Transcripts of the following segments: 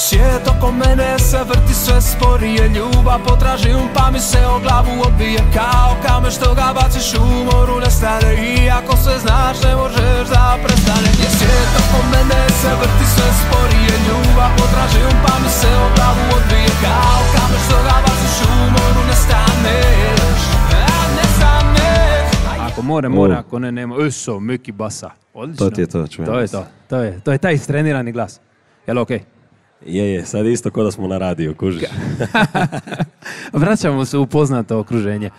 Svijet oko mene se vrti sve sporije, ljubav potražim pa mi se o glavu odbije kao kamen što ga baciš u moru nestane. I ako sve znaš ne možeš da prestane. Svijet oko mene se vrti sve sporije, ljubav potražim pa mi se o glavu odbije kao kamen što ga baciš u moru nestaneš. Ako mora, ako ne, nema. Eso, Miki Basa. Odlično. To ti je to, čujem. To je taj istrenirani glas. Jel okej? Je, sad isto ko da smo na radiju, kužiš. Vraćamo se u poznato okruženje.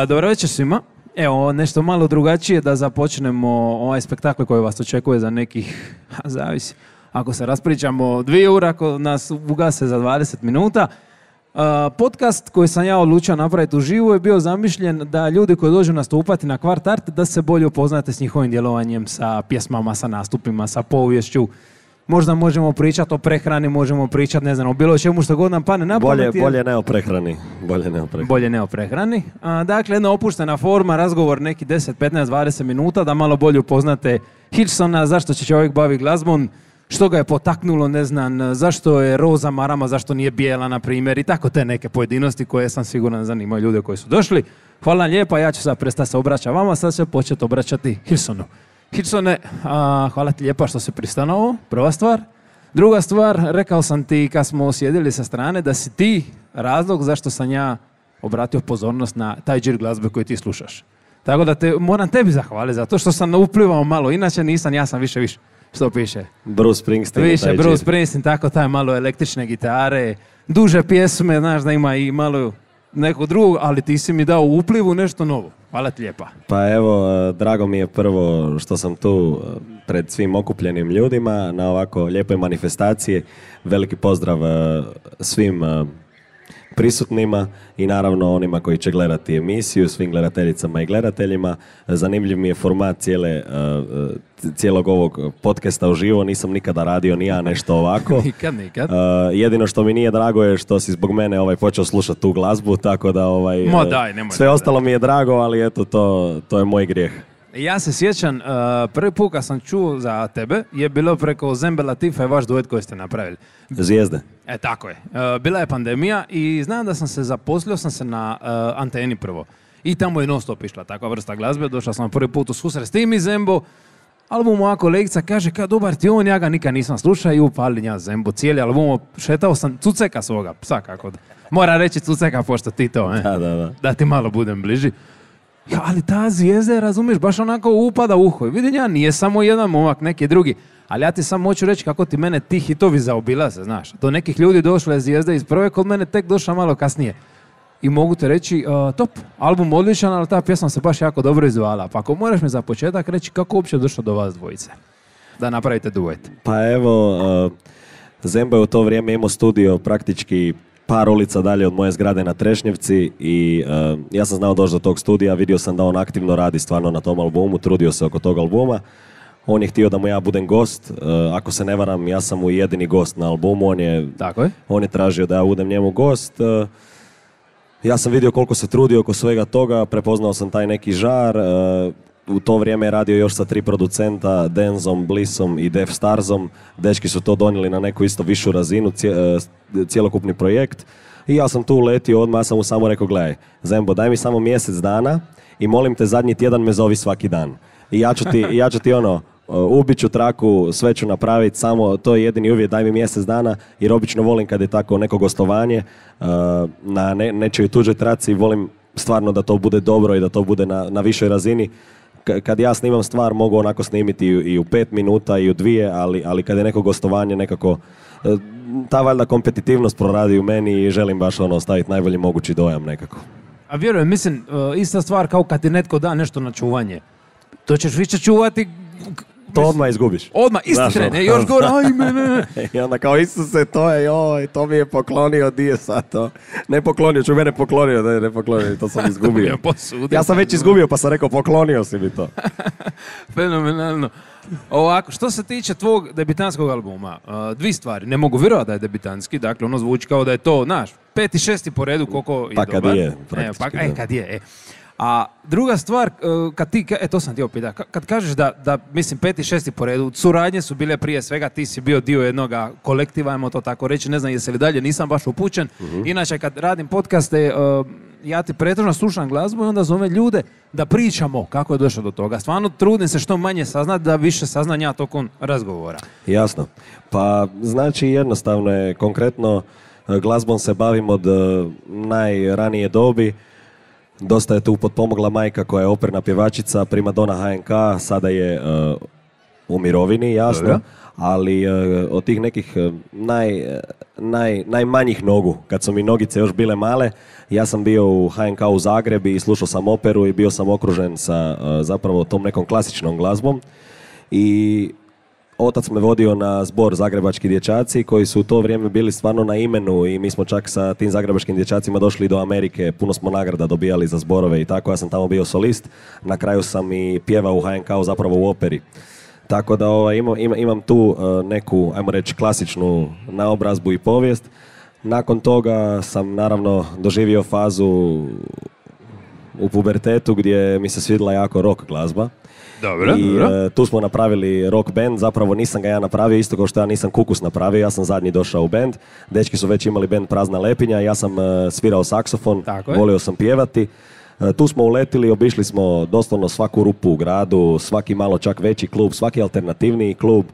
Dobro večer svima. Evo, nešto malo drugačije da započnemo ovaj spektakl koji vas očekuje za nekih, zavisi, ako se raspričamo 2 ura, ako nas ugase za 20 minuta. Podcast koji sam ja odlučio napraviti uživo je bio zamišljen da ljudi koji dođu nastupati na Kvart Art da se bolje upoznate s njihovim djelovanjem, sa pjesmama, sa nastupima, sa poviješću. Možda možemo pričati o prehrani, možemo pričati, ne znam, o bilo čemu što god nam pane na pamet. Bolje ne o prehrani. Bolje ne o prehrani. Dakle, jedna opuštena forma, razgovor neki 10, 15, 20 minuta da malo bolje upoznate Hillsona, zašto će čovjek baviti glazbom, što ga je potaknulo, ne znam, zašto je roza marama, zašto nije bijela, na primjer, i tako te neke pojedinosti koje sam siguran zanimaju ljude koji su došli. Hvala lijepa, ja ću sad prestati se obraćati vama, sad ću početi obraćati Hillsonu. Hillsone, hvala ti lijepa što si pristao na ovo, prva stvar. Druga stvar, rekao sam ti kad smo sjedili sa strane da si ti razlog zašto sam ja obratio pozornost na taj džir glazbe koji ti slušaš. Tako da moram tebi zahvaliti za to što sam uplivao malo, inače nisam, ja sam više. Što piše? Bruce Springsteen. Više, Bruce Springsteen, tako taj malo električne gitare, duže pjesme, znaš da ima i malo nekog drugog, ali ti si mi dao u uplivu nešto novo. Hvala ti lijepa. Pa evo, drago mi je prvo što sam tu pred svim okupljenim ljudima na ovako lijepoj manifestaciji. Veliki pozdrav svim prisutnima i naravno onima koji će gledati emisiju, svim gledateljicama i gledateljima. Zanimljiv mi je format cijelog ovog podcasta uživo, nisam nikada radio ni ja nešto ovako. Nikad. Jedino što mi nije drago je što si zbog mene počeo slušati tu glazbu, tako da sve ostalo mi je drago, ali eto to je moj grijeh. Ja se sjećam, prvi put kad sam čuo za tebe je bilo preko Zembe Latifa i vaš duet koji ste napravili. Zvijezde. Tako je. Bila je pandemija i znam da zaposlio sam se na Anteni prvo. I tamo je non stop išla takva vrsta glazbe. Došao sam prvi put u susret s tim i Zembo. Album moja kolegica kaže, dobar ti on, ja ga nikad nisam slušao i upali ja Zembo. Cijeli album, šetao sam Cuceka svoga psa, kako da. Moram reći Cuceka, pošto ti to, da ti malo budem bliži. Ja, ali ta Zvijezda, razumiješ, baš onako upada u uho. Vidim ja, nije samo jedan momak, neki drugi. Ali ja ti samo hoću reći kako ti mene ti hitovi zaobilaze, znaš. Do nekih ljudi došla je Zvijezda iz prve, kod mene tek došla malo kasnije. I mogu te reći, top, album odličan, ali ta pjesma se baš jako dobro izvala. Pa ako moraš mi za početak reći kako uopće došlo do vas dvojice, da napravite duet. Pa evo, Zembo je u to vrijeme imao studio praktički par ulica dalje od moje zgrade na Trešnjevci i ja sam znao doći do tog studija, vidio sam da on aktivno radi stvarno na tom albumu, trudio se oko tog albuma. On je htio da mu ja budem gost, ako se ne varam, ja sam mu jedini gost na albumu, on je tražio da ja budem njemu gost. Ja sam vidio koliko se trudio oko svega toga, prepoznao sam taj neki žar. U to vrijeme je radio još sa 3 producenta, Denzom, Blissom i Def Starzom. Dečki su to donijeli na neku isto višu razinu, cjelokupni projekt. I ja sam tu uletio odmah, ja sam mu samo rekao, gledaj, Zembo, daj mi samo mjesec dana i molim te zadnji tjedan me zovi svaki dan. I ja ću ti ubit ću traku, sve ću napraviti, samo to je jedini uvjet, daj mi mjesec dana, jer obično volim kad je tako neko gostovanje na nečoj tuđoj traci, volim stvarno da to bude dobro i da to bude na višoj razini. Kad ja snimam stvar mogu onako snimiti i u 5 minuta i u 2, ali kad je neko gostovanje nekako ta valjda kompetitivnost proradi u meni i želim baš ostaviti najbolji mogući dojam nekako. A vjerujem, mislim, ista stvar kao kad ti netko da nešto na čuvanje. To ćeš više čuvati. To odmah izgubiš. Odmah, isti tren, još gore, ajme. I onda kao Isuse, to mi je poklonio, di je sad to? Ne poklonio, mene poklonio, ne poklonio, to sam izgubio. Ja sam već izgubio pa sam rekao poklonio si mi to. Fenomenalno. Ovako, što se tiče tvog debitanskog albuma, 2 stvari, ne mogu vjerovati da je debitanski, dakle ono zvuči kao da je to, 5. i 6. po redu koliko je pa dobar. Kad je, praktički. Kad je. A druga stvar, kad ti, to sam ti opita, kad kažeš da, mislim, 5. i 6. po redu, suradnje su bile prije svega, ti si bio dio jednoga kolektiva, ajmo to tako reći, ne znam jesi li dalje, nisam baš upućen. Inače, kad radim podcaste, ja ti pretežno slušam glazbu i onda zovem ljude da pričamo kako je došlo do toga. Stvarno trudim se što manje saznati da više saznam ja tokom razgovora. Jasno. Pa znači jednostavno je, konkretno glazbom se bavim od najranije dobi. Dosta je tu potpomogla majka koja je operna pjevačica, primadona HNK, sada je u mirovini, jasno. Dobre. Ali od tih nekih najmanjih nogu, kad su mi nogice još bile male, ja sam bio u HNK u Zagrebi i slušao sam operu i bio sam okružen sa zapravo tom nekom klasičnom glazbom. I otac me vodio na zbor Zagrebački dječaci koji su u to vrijeme bili stvarno na imenu i mi smo čak sa tim zagrebačkim dječacima došli do Amerike, puno smo nagrada dobijali za zborove i tako, ja sam tamo bio solist, na kraju sam i pjevao u HNK-u zapravo u operi. Tako da imam tu neku, ajmo reći, klasičnu naobrazbu i povijest. Nakon toga sam naravno doživio fazu u pubertetu gdje mi se svidjela jako rock glazba. Dobro, i tu smo napravili rock band, zapravo nisam ga ja napravio, isto kao što ja nisam Kukus napravio, ja sam zadnji došao u band. Dečki su već imali band Prazna lepinja, ja sam svirao saksofon, volio sam pjevati. Tu smo uletili, obišli smo doslovno svaku rupu u gradu, svaki malo čak veći klub, svaki alternativniji klub,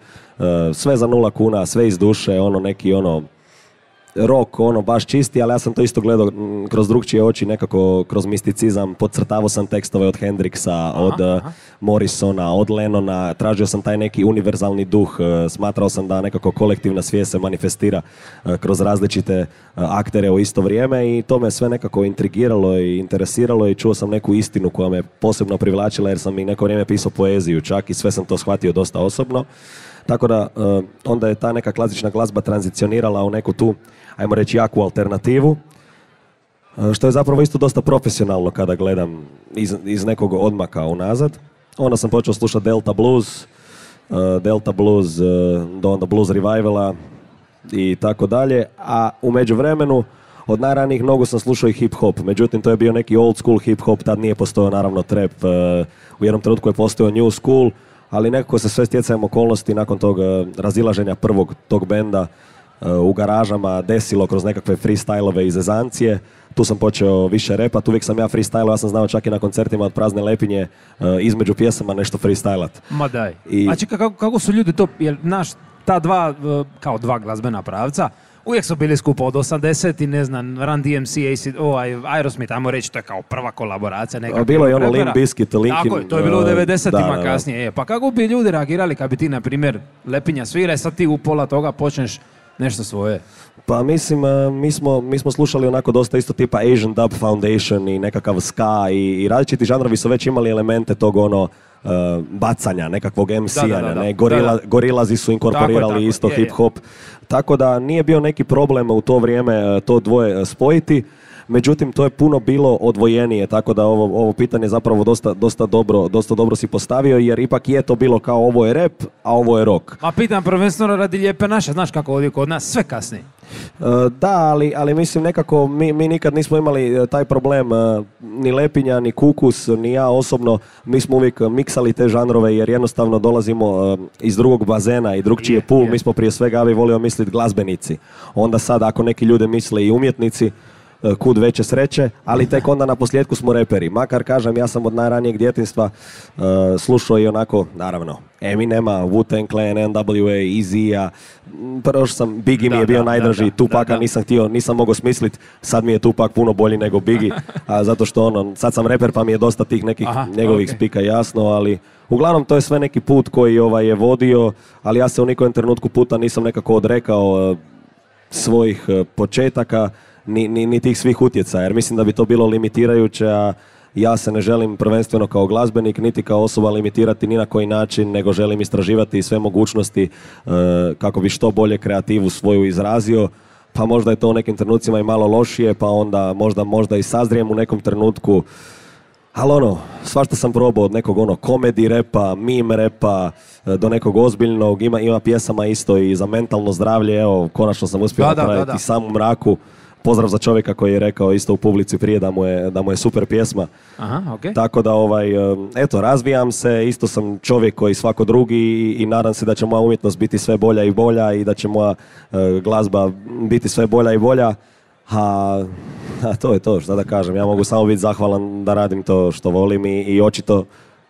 sve za 0 kuna, sve iz duše, neki rock, baš čisti, ali ja sam to isto gledao kroz drugčije oči, nekako kroz misticizam, podcrtavao sam tekstove od Hendrixa, od Morrisona, od Lennona, tražio sam taj neki univerzalni duh, smatrao sam da nekako kolektivna svijest se manifestira kroz različite aktere u isto vrijeme i to me sve nekako intrigiralo i interesiralo i čuo sam neku istinu koja me posebno privlačila jer sam i neko vrijeme pisao poeziju čak i sve sam to shvatio dosta osobno. Tako da onda je ta neka klasična glazba tranzicionirala u neku tu, ajmo reći, jaku alternativu, što je zapravo isto dosta profesionalno kada gledam iz nekog odmaka unazad. Onda sam počeo slušati Delta Blues, do onda Blues Revivala i tako dalje, a u međuvremenu od najranijih nogu sam slušao i hip-hop, međutim to je bio neki old school hip-hop, tad nije postojao naravno trap, u jednom trenutku je postojao new school, ali nekako se sve stjecajem okolnosti nakon tog razilaženja prvog tog benda u garažama desilo kroz nekakve freestylove i zezancije. Tu sam počeo više repat, uvijek sam ja freestylao, ja sam znao čak i na koncertima od Prazne lepinje između pjesama nešto freestylat. Ma daj. Znači kako su ljudi to, jer naš ta kao dva glazbena pravca, uvijek su bili skupo od 80 i ne znam, Run DMC, Aerosmith, ajmo reći, to je kao prva kolaboracija. Bilo je ono Limp Bizkit, Linkin. Tako je, to je bilo u 90-ima kasnije. Pa kako bi ljudi reagirali kad bi ti, na primjer, Lepinja svira i sad ti u pola toga počneš nešto svoje? Pa mislim, mi smo slušali onako dosta isto tipa Asian Dub Foundation i nekakav ska i različiti žanrovi su već imali elemente tog bacanja, nekakvog MC-anja, Gorillazi su inkorporirali isto hip-hop. Tako da nije bio neki problem u to vrijeme to dvoje spojiti, međutim to je puno bilo odvojenije, tako da ovo pitanje zapravo dosta dobro si postavio, jer ipak je to bilo kao ovo je rap, a ovo je rock. Ma pitam prvenstveno radi Lijepe naše, znaš kako ovdje kod nas, sve kasni. Da, ali mislim nekako mi nikad nismo imali taj problem, ni Lepinja, ni Kukus, ni ja osobno, mi smo uvijek miksali te žanrove jer jednostavno dolazimo iz drugog bazena i drugčiji je pool, mi smo prije svega, ja bih volio misliti glazbenici. Onda sad ako neki ljude misle i umjetnici, kud veće sreće, ali tek onda na posljedku smo reperi. Makar kažem, ja sam od najranijeg djetinjstva slušao i onako, naravno, Eminema, Wu-Tang Clan, NWA, Easy-a, prvo sam, Biggie mi je bio najdraži, Tupaka nisam mogao smisliti, sad mi je Tupak puno bolji nego Biggie, zato što sad sam reper pa mi je dosta tih nekih njegovih spika jasno, ali uglavnom to je sve neki put koji je vodio, ali ja se u nikom trenutku puta nisam nekako odrekao svojih početaka, ni tih svih utjecaja, jer mislim da bi to bilo limitirajuće, a ja se ne želim prvenstveno kao glazbenik, niti kao osoba limitirati ni na koji način, nego želim istraživati sve mogućnosti kako bi što bolje kreativu svoju izrazio, pa možda je to u nekim trenucima i malo lošije, pa onda možda i sazrijem u nekom trenutku, ali svašta sam probao od nekog komedi repa, meme repa, do nekog ozbiljnog, ima pjesama isto i za mentalno zdravlje, evo, konačno sam uspio napraviti Sam u mraku, pozdrav za čovjeka koji je rekao isto u publici prije da mu je super pjesma. Aha, okay. Tako da, eto, razvijam se, isto sam čovjek koji svako drugi i nadam se da će moja umjetnost biti sve bolja i bolja i da će moja glazba biti sve bolja i bolja. A to je to, šta da kažem, ja mogu samo biti zahvalan da radim to što volim i očito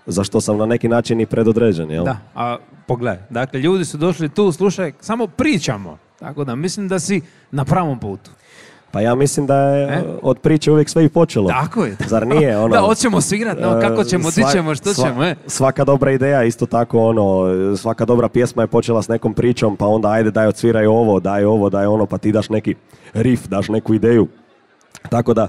za što sam na neki način i predodređen, jel? Da, a pogledaj, dakle, ljudi su došli tu, slušaj, samo pričamo, tako da mislim da si na pravom putu. Pa ja mislim da je od priče uvijek sve i počelo. Tako je. Zar nije? Ono, da, hoćemo svigrati, no, kako ćemo, di ćemo, što ćemo, Svaka dobra ideja, isto tako, svaka dobra pjesma je počela s nekom pričom, pa onda ajde daj odsviraj ovo, daj ono, pa ti daš neki riff, daš neku ideju. Tako da,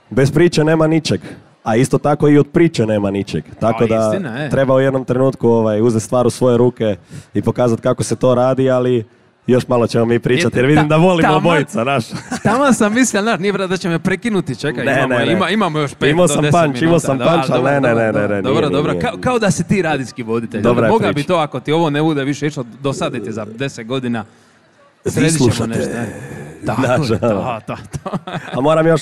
bez priče nema ničeg. A isto tako i od priče nema ničeg. Tako da istina, treba u jednom trenutku uzeti stvar u svoje ruke i pokazati kako se to radi, ali još malo ćemo mi pričati jer vidim da volimo obojica, naš. Tamo sam mislio, nije da će me prekinuti, čekaj, imamo još 5 do 10 minuta. Imao sam punch, ali ne. Dobro, kao da si ti radijski voditelj. Moga bi to, ako ti ovo ne bude više išlo, dosaditi za 10 godina. Sredit ćemo nešto. Da. A moram još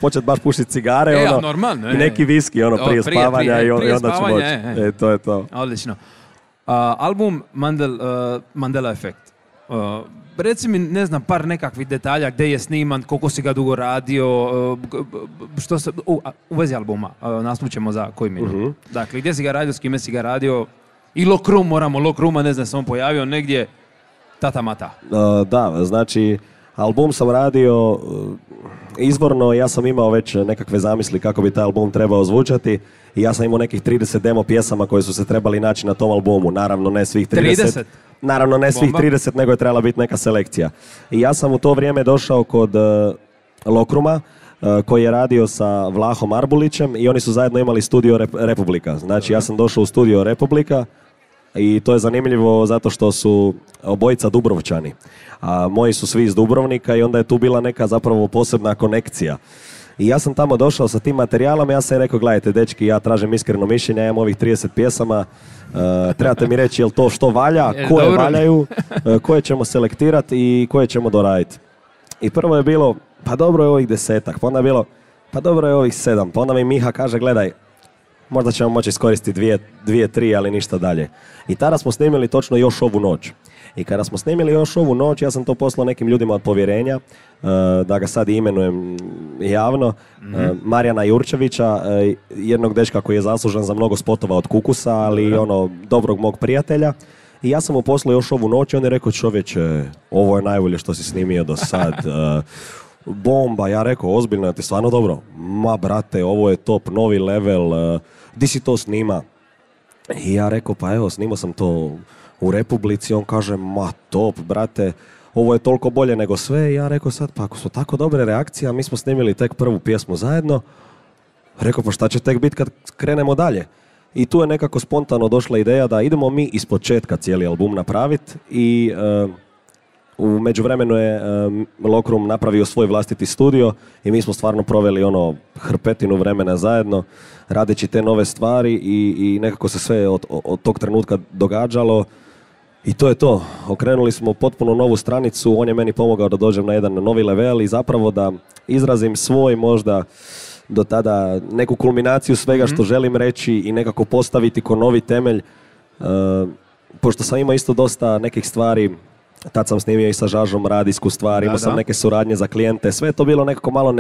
početi baš pušiti cigare, normalno, i neki viski, prije spavanja i onda ću moći. To je to. Odlično. Album Mandela Effect. Reci mi, ne znam, par nekakvih detalja, gdje je sniman, koliko si ga dugo radio, što se, u vezi albuma, naslućemo za koji minut. Dakle, gdje si ga radio, s kime si ga radio, i Lokruma, ne znam, sam on pojavio negdje, tata mata. Da, znači, album sam radio izvorno, ja sam imao već nekakve zamisli kako bi taj album trebao zvučati i ja sam imao nekih 30 demo pjesama koje su se trebali naći na tom albumu, naravno ne svih 30. Naravno ne svih 30, nego je trebala biti neka selekcija. I ja sam u to vrijeme došao kod Lokruma, koji je radio sa Vlahom Arbulićem i oni su zajedno imali studio Republika. Znači ja sam došao u studio Republika i to je zanimljivo zato što su obojica Dubrovčani. A moji su svi iz Dubrovnika i onda je tu bila neka zapravo posebna konekcija. I ja sam tamo došao sa tim materijalom i ja sam rekao, gledajte dečki, ja tražim iskreno mišljenje, ja imam ovih 30 pjesama, trebate mi reći jel to što valja, koje valjaju, koje ćemo selektirati i koje ćemo doraditi. I prvo je bilo, pa dobro je ovih 10-ak, pa onda je bilo, pa dobro je ovih 7, pa onda mi Miha kaže, gledaj, možda ćemo moći iskoristiti 2-3, ali ništa dalje. I tada smo snimili točno Još ovu noć. I kada smo snimili Još ovu noć, ja sam to poslao nekim ljudima od povjerenja, da ga sad imenujem javno, Marijana Jurčevića, jednog dečka koji je zaslužan za mnogo spotova od Kukusa, ali dobrog mog prijatelja. I ja sam mu poslao Još ovu noć i on je rekao, čovječe, ovo je najbolje što si snimio do sad. Bomba, ja rekao, ozbiljno, je ti stvarno dobro? Ma brate, ovo je top, novi level, di si to snima? I ja rekao, pa evo, snimao sam to u Republici, on kaže, ma top, brate, ovo je toliko bolje nego sve. I ja rekao sad, pa ako su tako dobre reakcije, a mi smo snimili tek prvu pjesmu zajedno, rekao, pa šta će tek biti kad krenemo dalje? I tu je nekako spontano došla ideja da idemo mi ispočetka cijeli album napraviti i u međuvremenu je Lokrum napravio svoj vlastiti studio i mi smo stvarno proveli hrpetinu vremena zajedno radeći te nove stvari i nekako se sve od tog trenutka događalo i to je to. Okrenuli smo potpuno novu stranicu, on je meni pomogao da dođem na jedan novi level i zapravo da izrazim svoj možda do tada neku kulminaciju svega što želim reći i nekako postaviti ko novi temelj. Pošto sam imao isto dosta nekih stvari, tad sam snimio i sa Žažom radijsku stvar, imao sam neke suradnje za klijente, sve je to bilo nekako malo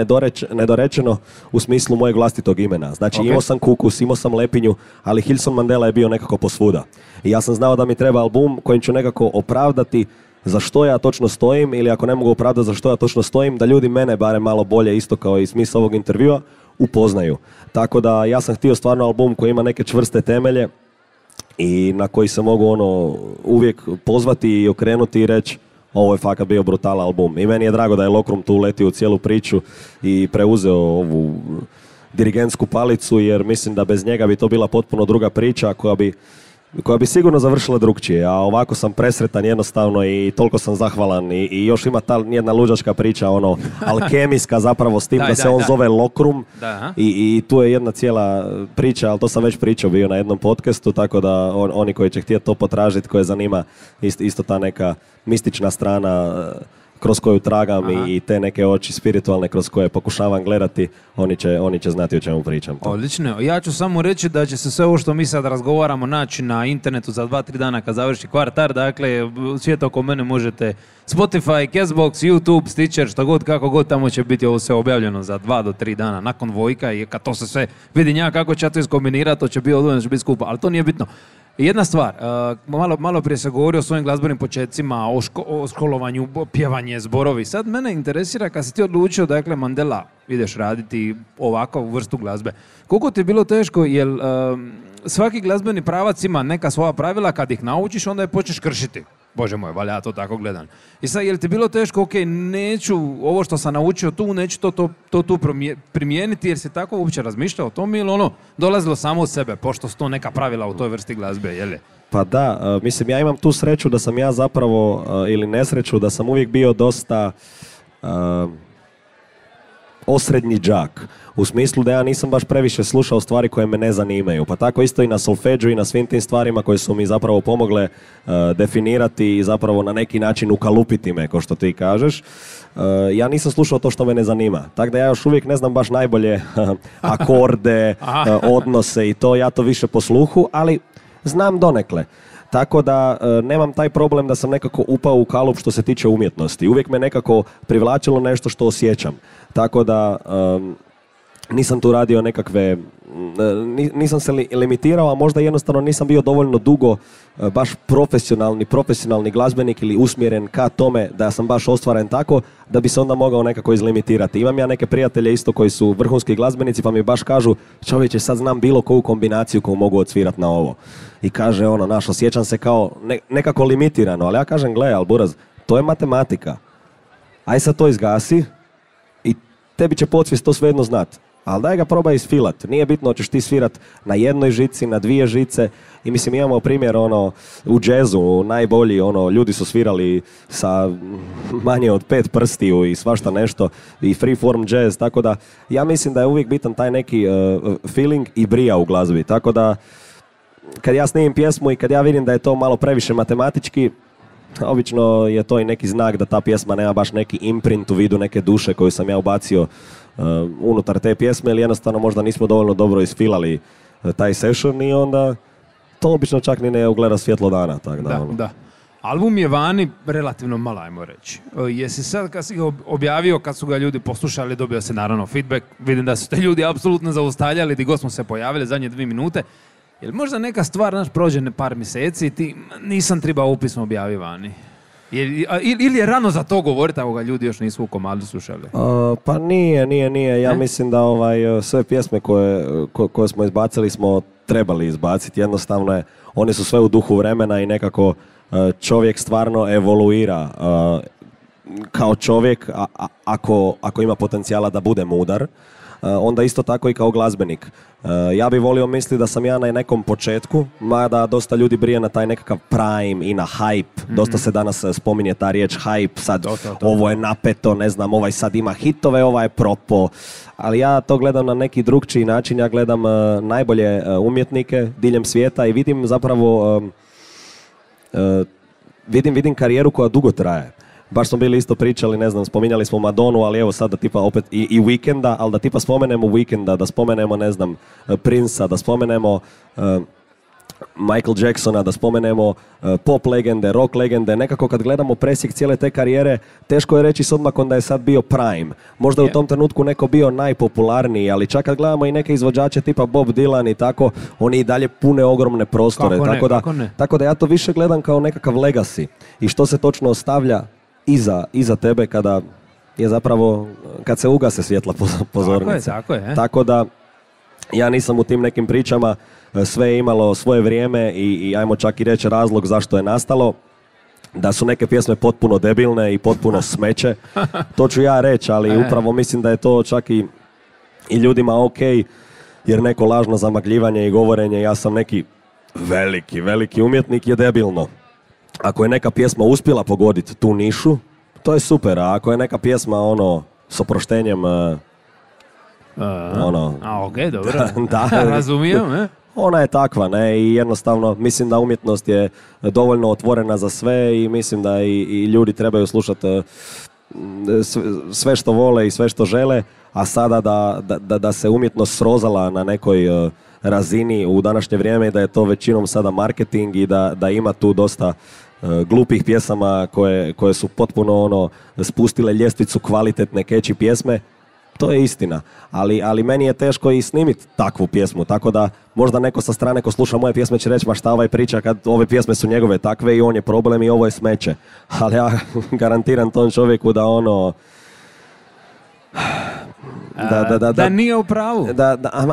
nedorečeno u smislu mojeg vlastitog imena. Znači imao sam Kukus, imao sam Lepinju, ali Hilson Mandela je bio nekako posvuda. I ja sam znao da mi treba album kojim ću nekako opravdati za što ja točno stojim ili ako ne mogu opravdati za što ja točno stojim, da ljudi mene barem malo bolje, isto kao i smisao ovog intervjua, upoznaju. Tako da ja sam htio stvarno album koji ima neke čvrste temelje i na koji se mogu uvijek pozvati i okrenuti i reći ovo je fakat bio brutalan album. I meni je drago da je Lokrum tu uletio u cijelu priču i preuzeo ovu dirigentsku palicu jer mislim da bez njega bi to bila potpuno druga priča koja bi sigurno završila drugčije, a ovako sam presretan jednostavno i toliko sam zahvalan i još ima ta jedna luđačka priča, alkemijska zapravo s tim da se on zove Lokrum i tu je jedna cijela priča, ali to sam već pričao bio na jednom podcastu, tako da oni koji će htjeti to potražiti, koje zanima isto ta neka mistična strana kroz koju tragam Aha. i te neke oči spiritualne kroz koje pokušavam gledati, oni će znati o čemu pričam. Odlično. Ja ću samo reći da će se sve ovo što mi sad razgovaramo naći na internetu za 2-3 dana kad završi kvartar. Dakle, svijet oko mene možete Spotify, Castbox, YouTube, Stitcher, što god, kako god, tamo će biti ovo sve objavljeno za 2 do 3 dana nakon Vojka i kad to se sve vidi njega kako će ja to iskombinirati, to će biti odvojeno, će biti skupa, ali to nije bitno. Jedna stvar, malo prije se govori o svojim glazbenim početcima, o školovanju, pjevanje, zborovi. Sad mene interesira kad si ti odlučio, dakle, Mandela, ideš raditi ovakvu vrstu glazbe. Koliko ti je bilo teško, jer svaki glazbeni pravac ima neka svoja pravila, kad ih naučiš, onda je počneš kršiti. Bože moj, valja, ja to tako gledam. I sad, je li ti bilo teško, ok, neću ovo što sam naučio tu, neću to tu primijeniti, jer si tako uopće razmišljao o tom ili ono dolazilo samo od sebe, pošto su to neka pravila u toj vrsti glazbe, je li? Pa da, mislim, ja imam tu sreću da sam ja zapravo, ili nesreću, da sam uvijek bio dosta osrednji đak. U smislu da ja nisam baš previše slušao stvari koje me ne zanimaju. Pa tako isto i na solfeđu i na svim tim stvarima koje su mi zapravo pomogle definirati i zapravo na neki način ukalupiti me, kao što ti kažeš. Ja nisam slušao to što me ne zanima. Tako da ja još uvijek ne znam baš najbolje akorde, odnose i to, ja to više po sluhu, ali znam donekle. Tako da nemam taj problem da sam nekako upao u kalup što se tiče umjetnosti. Uvijek me nekako privlačilo nešto što osjećam. Tako da nisam tu radio nekakve, nisam se limitirao, a možda jednostavno nisam bio dovoljno dugo baš profesionalni glazbenik ili usmjeren ka tome da sam baš ostvaren tako da bi se onda mogao nekako izlimitirati. Imam ja neke prijatelje isto koji su vrhunski glazbenici pa mi baš kažu, čovječe, sad znam bilo koju kombinaciju koju mogu odsvirati na ovo. I kaže osjećam se kao nekako limitirano, ali ja kažem, gle, al buraz, to je matematika. Aj sad to izgasi i tebi će podsvijest to svejedno znati. Ali daj ga probaj isfilat. Nije bitno hoćeš ti svirat na jednoj žici, na 2 žice. I mislim, imamo primjer u džezu, najbolji, ljudi su svirali sa manje od 5 prstiju i svašta nešto i freeform jazz, tako da ja mislim da je uvijek bitan taj neki feeling i brija u glazbi. Tako da kad ja snimim pjesmu i kad ja vidim da je to malo previše matematički, obično je to i neki znak da ta pjesma nema baš neki imprint u vidu neke duše koju sam ja ubacio unutar te pjesme ili jednostavno možda nismo dovoljno dobro isfilali taj session i onda to obično čak ni ne ugleda svjetlo dana. Tak da. Album je vani relativno malo, ajmo reći. Jesi sad kad si ga objavio, kad su ga ljudi poslušali, dobio se naravno feedback, vidim da su te ljudi apsolutno zaustavljali, di god smo se pojavili zadnje 2 minute. Je li možda neka stvar, prođe par mjeseci i ti nisam trebao upisno objaviti vani? Ili je rano za to govoriti, ako ga ljudi još nisu u komadu slušali? Pa nije. Ja mislim da sve pjesme koje smo izbacili smo trebali izbaciti. Jednostavno je, one su sve u duhu vremena i nekako čovjek stvarno evoluira kao čovjek, ako ima potencijala da bude mudar. Onda isto tako i kao glazbenik. Ja bih volio misliti da sam ja na nekom početku, mada dosta ljudi brije na taj nekakav prime i na hype. Dosta se danas spominje ta riječ hype, sad ovo je napeto, ne znam, ovaj sad ima hitove, ovaj je propo. Ali ja to gledam na neki drugčiji način, ja gledam najbolje umjetnike diljem svijeta i vidim zapravo, vidim karijeru koja dugo traje. Baš smo bili isto pričali, ne znam, spominjali smo Madonu, ali evo sad da tipa opet i Weekenda, ali da tipa spomenemo Weekenda, da spomenemo, ne znam, Prince-a, da spomenemo Michael Jacksona, da spomenemo pop legende, rock legende. Nekako kad gledamo presjek cijele te karijere, teško je reći s odmakom da je sad bio prime. Možda je u tom trenutku neko bio najpopularniji, ali čak kad gledamo i neke izvođače tipa Bob Dylan i tako, oni i dalje pune ogromne prostore. Tako da ja to više gledam kao nekakav legacy. I što se točno ostavlja iza tebe kada je zapravo, kad se ugase svjetla pozornice. Tako je. Tako da ja nisam u tim nekim pričama, sve je imalo svoje vrijeme i ajmo čak i reći razlog zašto je nastalo. Da su neke pjesme potpuno debilne i potpuno smeće, to ću ja reći, ali upravo mislim da je to čak i ljudima ok, jer neko lažno zamagljivanje i govorenje ja sam neki veliki umjetnik je debilno. Ako je neka pjesma uspjela pogoditi tu nišu, to je super, a ako je neka pjesma s oproštenjem ok, dobro. Da, razumijem, ona je takva, ne, i jednostavno mislim da umjetnost je dovoljno otvorena za sve i mislim da i ljudi trebaju slušati sve što vole i sve što žele, a sada da se umjetnost srozala na nekoj razini u današnje vrijeme i da je to većinom sada marketing i da ima tu dosta glupih pjesama koje su potpuno spustile ljestvicu kvalitetne catchy pjesme. To je istina, ali meni je teško i snimiti takvu pjesmu, tako da možda neko sa strane ko sluša moje pjesme će reći ma šta ovaj priča kad ove pjesme su njegove takve i on je problem i ovo je smeće. Ali ja garantiram tom čovjeku da da nije u pravu.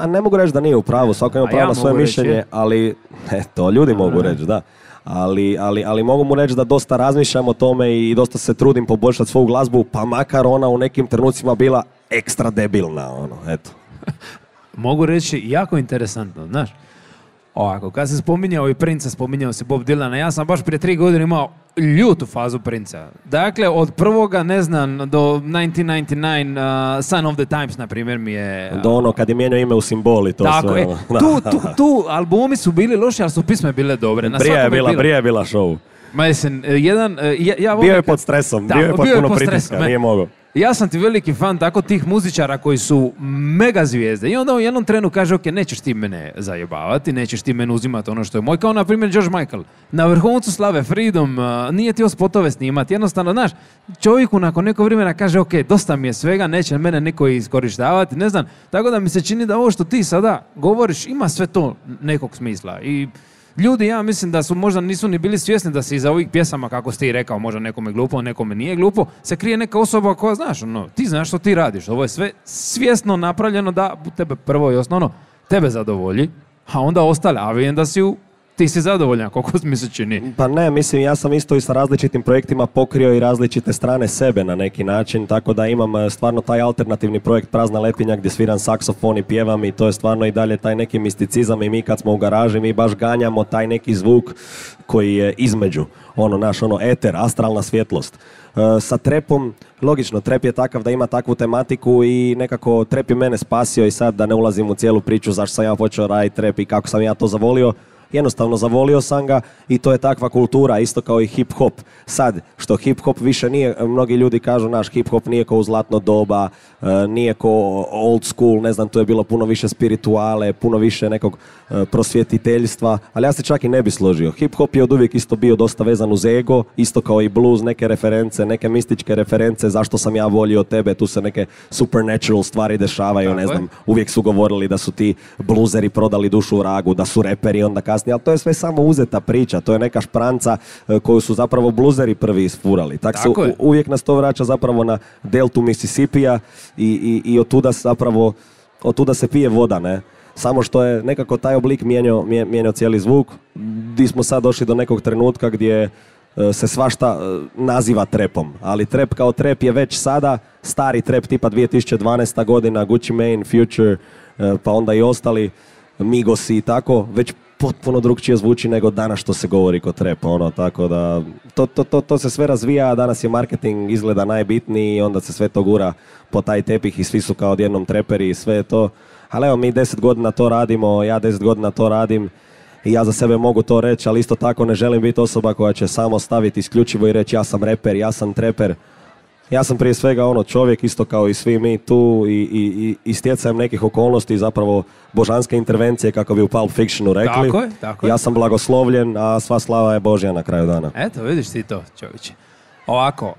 Ne mogu reći da nije u pravu, svako ima pravo na svoje mišljenje, ali to ljudi mogu reći, da. Ali mogu mu reći da dosta razmišljam o tome i dosta se trudim poboljšati svoju glazbu, pa makar ona u nekim trenucima bila ekstra debilna, eto. Mogu reći jako interesantno, znaš. Ovako, kad se spominjao i Princa, spominjao se Bob Dylana, ja sam baš prije 3 godine imao ljutu fazu Princa. Dakle, od prvoga, ne znam, do 1999, Sign of the Times, na primjer, mi je... Do kad je mijenjao ime u simboli, to tako, sve. Tu albumi su bili loši, ali su pisme bile dobre. Brija je bila show. Mislim, bio je pod stresom, bio je pod puno pritiska, nije mogao. Ja sam ti veliki fan tako tih muzičara koji su mega zvijezde i onda u jednom trenu kaže ok, nećeš ti mene zajebavati, nećeš ti mene uzimati ono što je moj, kao na primjer George Michael. Na vrhuncu slave, Freedom, nije ti spotove snimati, jednostavno, znaš, čovjeku nakon nekog vremena kaže ok, dosta mi je svega, neće mene niko iskorištavati, ne znam, tako da mi se čini da ovo što ti sada govoriš ima sve to nekog smisla i ljudi, ja mislim da su možda nisu ni bili svjesni da se iza ovih pjesama, kako ste i rekao, možda nekome glupo, nekome nije glupo, se krije neka osoba koja, znaš, ti znaš što ti radiš. Ovo je sve svjesno napravljeno da tebe prvo i osnovno tebe zadovolji, a onda ostale, a vidim da ti si zadovoljan, koliko mi se čini. Pa ne, mislim, ja sam isto i sa različitim projektima pokrio i različite strane sebe na neki način, tako da imam stvarno taj alternativni projekt Prazna letinja gdje sviram saksofon i pjevam i to je stvarno i dalje taj neki misticizam i mi kad smo u garaži, mi baš ganjamo taj neki zvuk koji je između, eter, astralna svjetlost. Sa trepom, logično, trep je takav da ima takvu tematiku i nekako trep je mene spasio i sad da ne ulazim u cijelu priču zašto sam ja počeo raditi trep i kako sam ja to zavolio. Jednostavno zavolio sam ga i to je takva kultura, isto kao i hip-hop. Sad, što hip-hop više nije, mnogi ljudi kažu, naš hip-hop nije kao u zlatno doba, nije kao old school, ne znam, tu je bilo puno više spirituale, puno više nekog prosvjetiteljstva, ali ja se čak i ne bi složio. Hip-hop je od uvijek isto bio dosta vezan uz ego, isto kao i blues, neke reference, neke mističke reference, zašto sam ja volio tebe, tu se neke supernatural stvari dešavaju, ne znam, uvijek su govorili da su ti bluzeri prodali dušu vragu, da su reperi onda kasnije, ali to je sve samo uzeta priča, to je neka špranca koju su zapravo bluzeri prvi isfurali. Tako uvijek nas to vraća zapravo na deltu Mississippija i otuda se pije voda, ne? Samo što je nekako taj oblik mijenjao cijeli zvuk, gdje smo sad došli do nekog trenutka gdje se svašta naziva trepom, ali trep kao trep je već sada stari trep tipa 2012. godina, Gucci Mane, Future, pa onda i ostali, Migosi i tako, već potpuno drugčije zvuči nego danas što se govori kod trep, tako da to se sve razvija, a danas je marketing izgleda najbitniji i onda se sve to gura po taj tepih i svi su kao odjednom treperi i sve to. Ali evo, mi 10 godina to radimo, ja 10 godina to radim i ja za sebe mogu to reći, ali isto tako ne želim biti osoba koja će samo staviti isključivo i reći ja sam reper, ja sam treper. Ja sam prije svega čovjek isto kao i svi mi tu i stjecajem nekih okolnosti zapravo božanske intervencije kako bi u Pulp Fictionu rekli. Tako je. Ja sam blagoslovljen, a sva slava je Božja na kraju dana. Eto, vidiš ti to, čovječe. Ovako,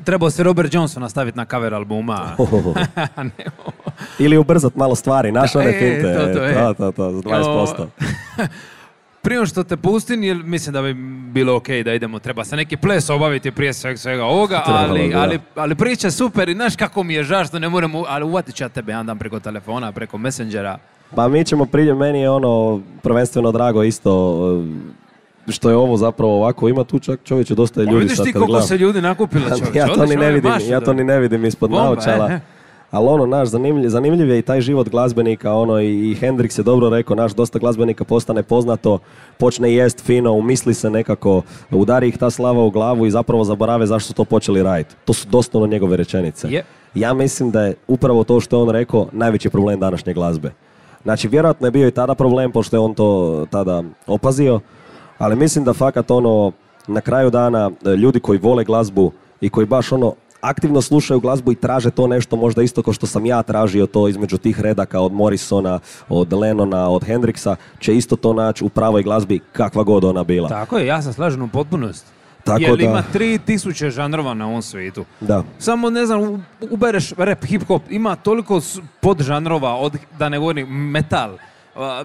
trebao se Robert Johnson nastaviti na cover albuma. Ili ubrzat malo stvari, naš one finte. To, 20%. Prije što te pustim, jer mislim da bi bilo ok da idemo, treba se neki ples obaviti prije svega ovoga, ali priča super i znaš kako mi je žao što ne moramo, ali uvatit ću ja tebe jedan dan preko telefona, preko Messengera. Pa mi ćemo meni je prvenstveno drago isto što je ovo zapravo ovako, ima tu čak čovječe dosta ljudi. Vidiš ti koliko se ljudi nakupilo čovječe. Ja to ni ne vidim ispod naočala. Ali zanimljiv je i taj život glazbenika, i Hendrix je dobro rekao, dosta glazbenika postane poznato, počne jest fino, umisli se nekako, udari ih ta slava u glavu i zapravo zaborave zašto su to počeli raditi. To su doslovno njegove rečenice. Yeah. Ja mislim da je upravo to što je on rekao najveći problem današnje glazbe. Znači, vjerojatno je bio i tada problem, pošto je on to tada opazio, ali mislim da fakat na kraju dana ljudi koji vole glazbu i koji baš ono aktivno slušaju glazbu i traže to nešto možda isto kao što sam ja tražio to između tih redaka od Morrisona, od Lennona, od Hendrixa, će isto to naći u pravoj glazbi kakva god ona bila. Tako je, ja sam slažem u potpunosti. Tako jer da, ima 3000 žanrova na ovom svijetu. da. Samo, ne znam, ubereš rap, hip-hop, ima toliko podžanrova, od, da ne govorim, metal.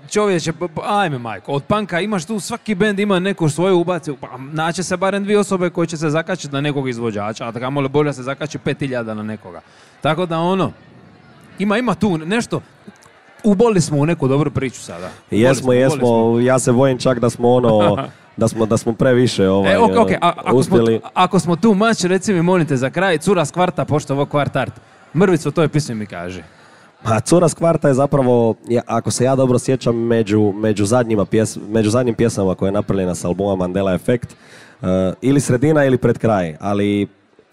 Čovječe, ajme majko, od punka imaš tu, svaki bend ima neku svoju ubaciju, pa naće se barem 2 osobe koje će se zakačiti na nekog izvođača, a kamoli bolje se zakači 5000 na nekoga. Tako da ono, ima tu nešto, uboli smo u neku dobru priču sada. Jesmo, ja se bojim čak da smo ono, da smo previše uspjeli. Ako smo tu mač, reci mi molite za kraj, cura s kvarta, pošto ovo kvart art. Mrvicu o toj pismi mi kaže. A Cura s kvarta je zapravo, ako se ja dobro sjećam, među zadnjim pjesama koje je napravljena s albuma Mandela Effect, ili sredina ili pred kraj, ali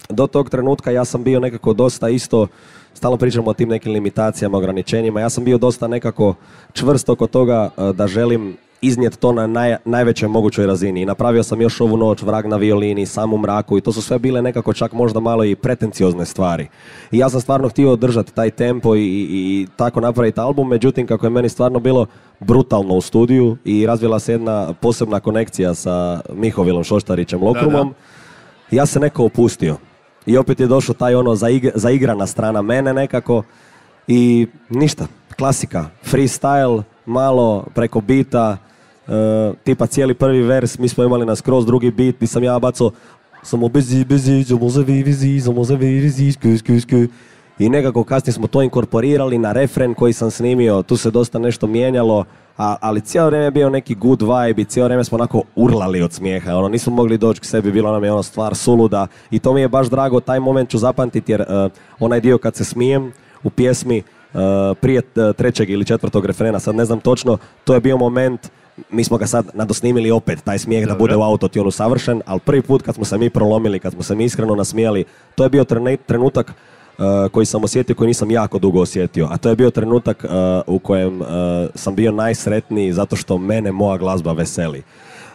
do tog trenutka ja sam bio nekako dosta isto, stalno pričamo o tim nekim limitacijama, ograničenjima, ja sam bio dosta nekako čvrst oko toga da želim iznijeti to na najvećoj mogućoj razini. I napravio sam još ovu noć, Vrag na violini, Sam u mraku i to su sve bile nekako čak možda malo i pretenciozne stvari. I ja sam stvarno htio održati taj tempo i tako napraviti album, međutim kako je meni stvarno bilo brutalno u studiju i razvila se jedna posebna konekcija sa Mihovilom Šoštarićem Lokrumom, ja se neko opustio. I opet je došao taj ono zaigrana strana mene nekako i ništa, klasika, freestyle, malo preko bita, tipa cijeli prvi vers, mi smo imali na skroz drugi beat, gdje sam ja bacao samo i nekako kasnije smo to inkorporirali na refren koji sam snimio, tu se dosta nešto mijenjalo, ali cijelo vrijeme je bio neki good vibe i cijelo vrijeme smo onako urlali od smijeha, ono, nismo mogli doći k sebi, bilo nam je ono stvar suluda i to mi je baš drago, taj moment ću zapamtiti jer onaj dio kad se smijem u pjesmi, prije 3. ili 4. refrena, sad ne znam točno, to je bio moment, mi smo ga sad nadosnimili opet, taj smijeh da bude u autotunu savršen, ali prvi put kad smo se mi prolomili, kad smo se mi iskreno nasmijali, to je bio trenutak koji sam osjetio, koji nisam jako dugo osjetio, a to je bio trenutak u kojem sam bio najsretniji zato što mene moja glazba veseli.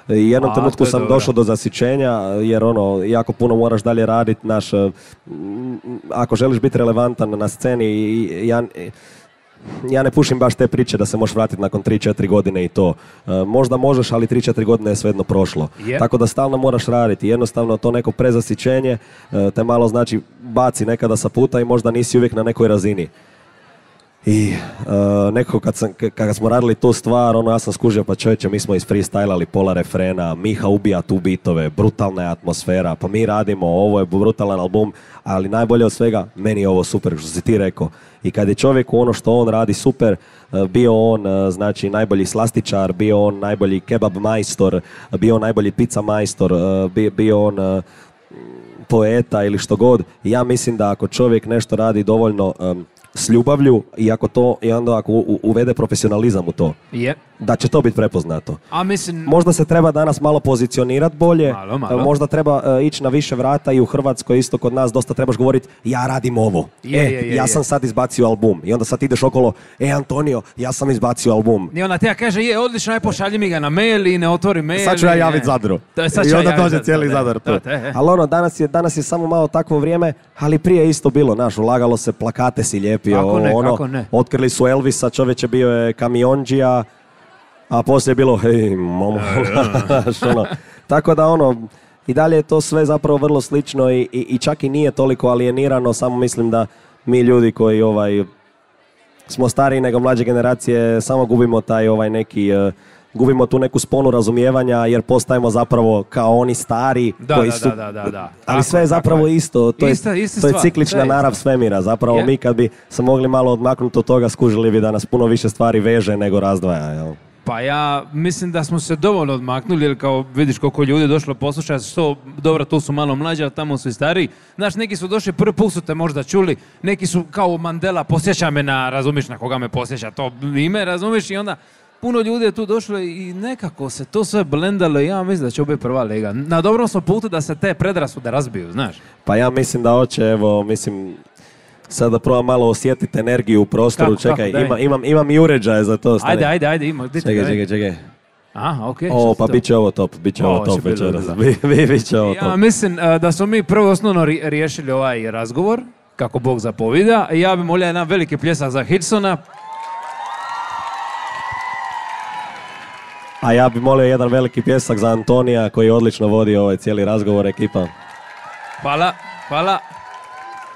I jednom trenutku sam došao do zasićenja, jer ono, jako puno moraš dalje raditi, ako želiš biti relevantan na sceni, ja ne pušim baš te priče da se možeš vratiti nakon 3-4 godine i to. Možda možeš, ali 3-4 godine je svejedno prošlo. Tako da stalno moraš raditi. Jednostavno to neko prezasićenje te malo znači baci nekada sa puta i možda nisi uvijek na nekoj razini. I nekako kad smo radili tu stvar, ono, ja sam skužio, pa čovječe, mi smo isfreestylali pola refrena, Miha ubija tu bitove, brutalna je atmosfera, pa mi radimo, ovo je brutalan album, ali najbolje od svega, meni je ovo super, što si ti rekao. I kad je čovjek ono što on radi super, bio on znači najbolji slastičar, bio on najbolji kebab majstor, bio on najbolji pizza majstor, bio on poeta ili što god, ja mislim da ako čovjek nešto radi dovoljno s ljubavlju i onda ako uvede profesionalizam u to, da će to biti prepoznato. Možda se treba danas malo pozicionirati bolje, možda treba ići na više vrata i u Hrvatskoj isto kod nas dosta trebaš govoriti ja radim ovo, ja sam sad izbacio album i onda sad ideš okolo, Antonio, ja sam izbacio album. I onda te ja kaže, odlično, aj pošalji mi ga na mail i ne otvori mail. Sad ću ja javiti Zadru. I onda dođe cijeli Zadar tu. Ali ono, danas je samo malo takvo vrijeme, ali prije isto bilo, znaš, ulagalo se, plakate si lijepio, otkrili su Elvisa, čovječe bio je kamionđija, a poslije je bilo, hej, momo, tako da ono, i dalje je to sve zapravo vrlo slično i čak i nije toliko alijenirano, samo mislim da mi ljudi koji smo stariji nego mlađe generacije, samo gubimo taj gubimo tu neku sponu razumijevanja jer postajemo zapravo kao oni stari koji su... Da. Ali sve je zapravo isto, to je ciklična narav svemira. Zapravo mi kad bi se mogli malo odmaknuti od toga, skužili bi da nas puno više stvari veže nego razdvaja. Jel? Pa ja mislim da smo se dovoljno odmaknuli, jer kao vidiš koliko ljudi je došlo poslušati, što dobro, tu su malo mlađi, a tamo su i stariji. Znaš, neki su došli, prvi put su te možda čuli, neki su kao Mandela, posjeća me razumiš na koga me posjeća to ime, razumiš, i onda puno ljudi je tu došlo i nekako se to sve blendalo i ja mislim da će biti prva liga. Na dobrom smo putu da se te predrasude razbiju, znaš. Pa ja mislim da hoće, evo, mislim, sad da probam malo osjetiti energiju u prostoru. Čekaj, imam i uređaje za to. Ajde, ima. Čekaj. Aha, okej. O, pa bit će ovo top, bit će ovo Ovo će top biti večeras. dobro. Bit će ovo Ja top. mislim da smo mi prvo osnovno riješili ovaj razgovor, kako Bog zapovida. Ja bi molio jedan veliki pljesak za Hilsona. A ja bi molio jedan veliki pljesak za Antonija koji je odlično vodio ovaj cijeli razgovor, ekipa. Hvala, hvala.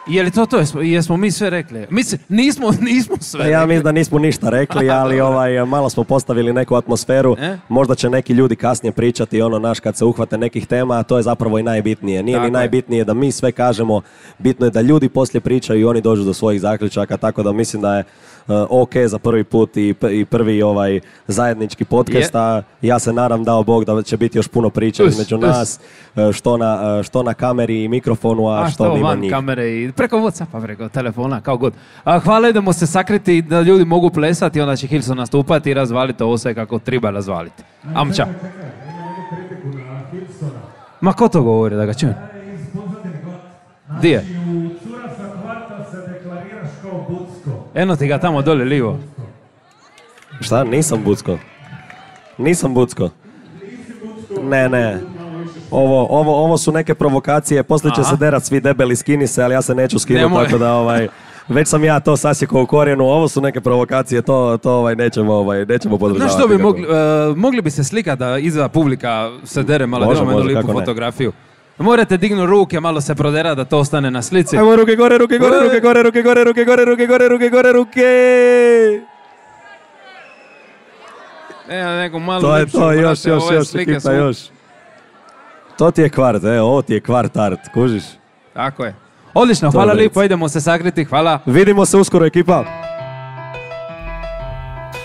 Je li to? Jesmo mi sve rekli? Mislim, nismo sve rekli. Ja mislim da nismo ništa rekli, ali malo smo postavili neku atmosferu. Možda će neki ljudi kasnije pričati kad se uhvate nekih tema, a to je zapravo i najbitnije. Nije ni najbitnije da mi sve kažemo, bitno je da ljudi poslije pričaju i oni dođu do svojih zaključaka, tako da mislim da je ok za prvi put i prvi zajednički podcast, a ja se nadam, dao Bog, da će biti još puno priča između nas, što na kameri i mikrofonu, a što mimo njih. Kamere i preko WhatsAppa, preko telefona, kao god. Hvala, idemo se sakriti da ljudi mogu plesati, onda će Hilson nastupati i razvaliti ovo sve kako treba razvaliti. Amča. Ma ko to govori, da ga čujem? Di je? Eno ti ga tamo dole livo. Šta? Nisam bucko. Ne. Ovo su neke provokacije, poslije će se derat svi debeli, skini se, ali ja se neću skinuti, tako da već sam ja to sasjekao u korijenu, ovo su neke provokacije, to nećemo podržavati. Znaš što bi mogli bi se slikati da iza publika se dere malo, da imamo jednu lipu fotografiju. Morate dignuti ruke, malo se prodera da to ostane na slici. Ajmo ruke gore. Evo neko malo to je to, još, ekipa, još. To ti je kvart, ovo ti je kvart art, kužiš? Tako je. Odlično, hvala lijepo, idemo se sakriti, hvala. Vidimo se uskoro, ekipa.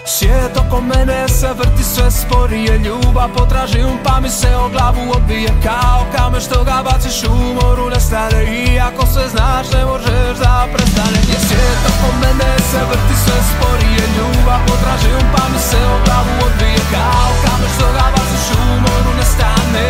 Svijet oko mene se vrti sve sporije, ljubav potražim pa mi se o glavu odbije kao kamen što ga baciš u moru nestane, i ako sve znaš ne možeš da prestane. Svijet oko mene se vrti sve sporije, ljubav potražim pa mi se o glavu odbije kao kamen što ga baciš u moru nestane.